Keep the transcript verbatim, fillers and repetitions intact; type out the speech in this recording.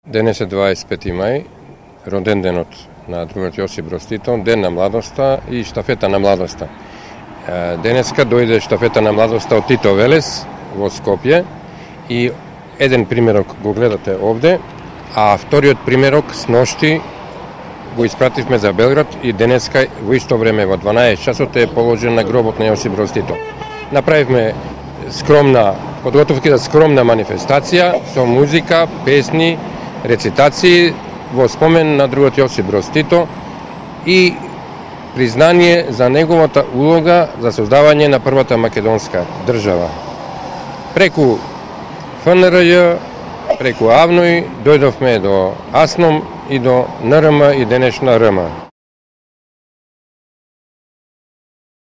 Денес е дваесет и пети мај, роден денот на другот Јосип Броз Тито, ден на младоста и штафета на младоста. Денеска дојде штафета на младоста од Тито Велес во Скопје и еден примерок го гледате овде, а вториот примерок сношти го испративме за Белград и денеска во исто време во дванаесет часот е положен на гробот на Јосип Броз Тито. Направивме скромна подготовки за скромна манифестација со музика, песни, рецитации во спомен на другот Јосип Броз Тито и признание за неговата улога за создавање на првата македонска држава. Преку Ф Н Р Ј, преку АВНОј, дојдовме до АСНОМ и до Н Р М и денешна Р М.